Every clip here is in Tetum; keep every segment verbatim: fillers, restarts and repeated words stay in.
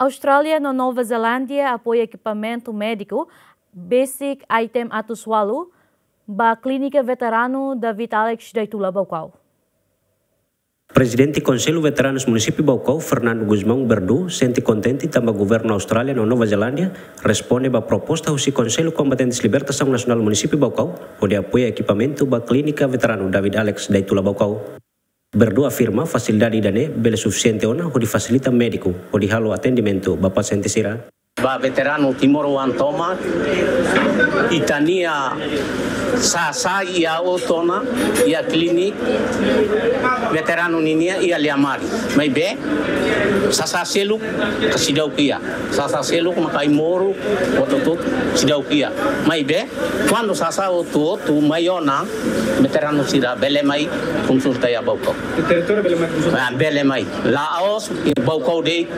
Austrália no Nova Zelándia apoia ekipamentu médiku besik item atus ualu ba Klínika Veteranu David Alex Daitula Baucau. Prezidente Konsellu Veteranus Munisípiu Baucau, Fernando Gusmão Berdu, sente kontente tanba Governu Austrália no Nova Zelándia responde ba proposta husi Konsellu Kombatentes Libertasaun Nasionál Munisípiu Baucau hodi apoia ekipamentu ba Klínika Veteranu David Alex Daitula Baucau. Berdu afirma fasilidade ida-ne'e bele sufisiente ona hodi fasilita médiku hodi halo atendimentu ba pasiente sira. Ba veteranu timoroan tomak, ita-nia sasá iha oto ona, iha klínika veteranu ninian iha Liamari. Maibé sasá seluk ka seidauk iha. Sasá seluk maka ai-moruk, hotu-hotu seidauk iha. Maibé kuandu sasá hotu-hotu mai ona, veteranu sira bele mai konsulta iha Baucau. Territóriu bele mai konsulta? Ah, bele mai. La'ós iha Baucau de'it,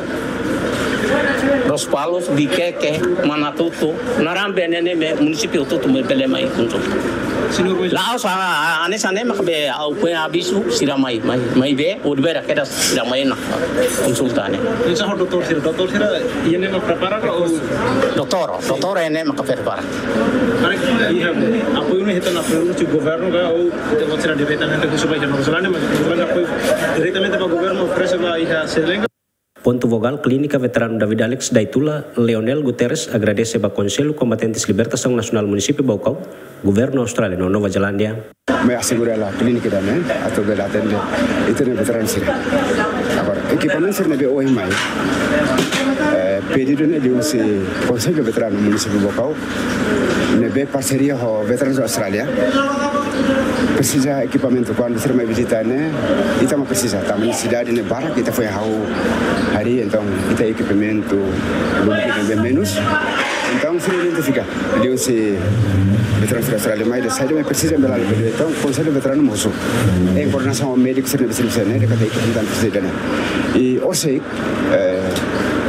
Lospalos, Viqueque, Manatuto, naran be ne'e ne'ebé munisípiu hotu-hotu bele mai konsulta. Senhor, mas la'ós, ah, ah, hanesan ne'e maka be ha'u foin avizu sira mai, mai, maibé horibainrua kedas sira mai ona konsulta ne'e. Entaun, doutór sira, doutór sira, iha ne'e mak prepara ka ou? Doutór, doutór iha ne'e mak prepara. Para iha apoiu ne'e hetan apoiu husi governu ka ou ita-boot sira diretamente husi ba iha Nova Zelándia, mas Nova Zelándia apoiu diretamente ba governu oferese ba iha Sri Lanka? Pontu vogál, Klínika Veteranu David Alex Daitula, Leonel Guterres, agradese ba Konsellu Kombatentes Libertasaun Nasionál Munisípiu Baucau, Governu Austrália no Nova Zelándia. Mai asegura la klínika ida-ne'e atu bele atende ita-nia veteranu sira. Agora, ekipamentu sira ne'ebé ohin mai, eh, pedidu ne'e liuhusi Konsellu Veteranu Munisípiu Baucau, ne'ebé parseria ho Veterans Austrália. Presiza ekipamentu kuandu sira mai vizita ne'e, ita mak presiza, tanba nesesidade ne'e barak, ita foin hahú harii, entaun ita ekipamentu lubuk ne'ebé menus. Entaun sira identifika liuhusi Veterans Austrália mai dehan saida mak presiza bele lori. Entaun Konsellu Veteranu mosu, em koordenasaun ho médiku sira ne'ebé servisu ne'e, dehan katak ekipamentu presiza ne'e. I orsida, eh,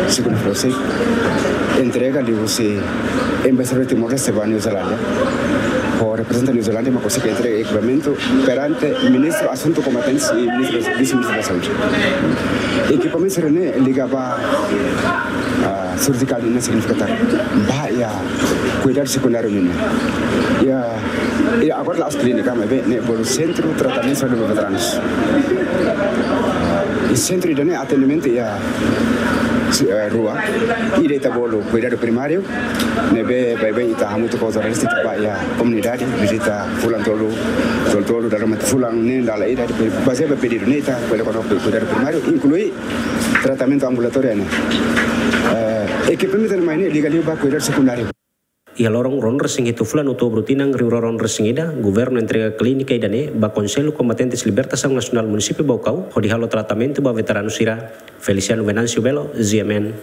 segunda-feira orsida, entrega liuhusi Embaixadór Timor-Leste ba Nova Zelándia, ho reprezentante Nova Zelándia, mak konsege entrega ekipamentu perante Ministru Asuntu Kombatentes i Ministru, Vise-Ministru da Saúde. Ekipamentu sira-ne'e liga ba, ah, surjikál nian, signifika katak ba iha kuidadu sekundáriu nian. Iha, iha agora la'ós klínika, maibé ne'e bolu Sentru Tratamentu Saúde ba Veteranus. I sentru ida-ne'e atendimentu iha, eh, rua. Ida ita bolu kuidadu primáriu, ne'ebé baibain ita hamutuk ho autoridade, ita ba iha komunidade, vizita fulan tolu, tolu-tolu, dala ruma fulan neen dala ida, depois bazeia ba pedidu ne'e ita bele kona kuidadu primáriu, inklui tratamentu ambulatóriu ne'e. Eh, ekipamentu ne'e mai ne'e liga liu ba kuidadu sekundáriu. Iha loron ruanulu-resin-hitu fulan Outubru tinan rihun rua ruanulu-resin-ida, governu entrega klínika ida-ne'e ba Konsellu Kombatentes Libertasaun Nasionál Munisípiu Baucau, hodi halo tratamentu ba veteranu sira. Feliciano Venâncio Belo, G M N.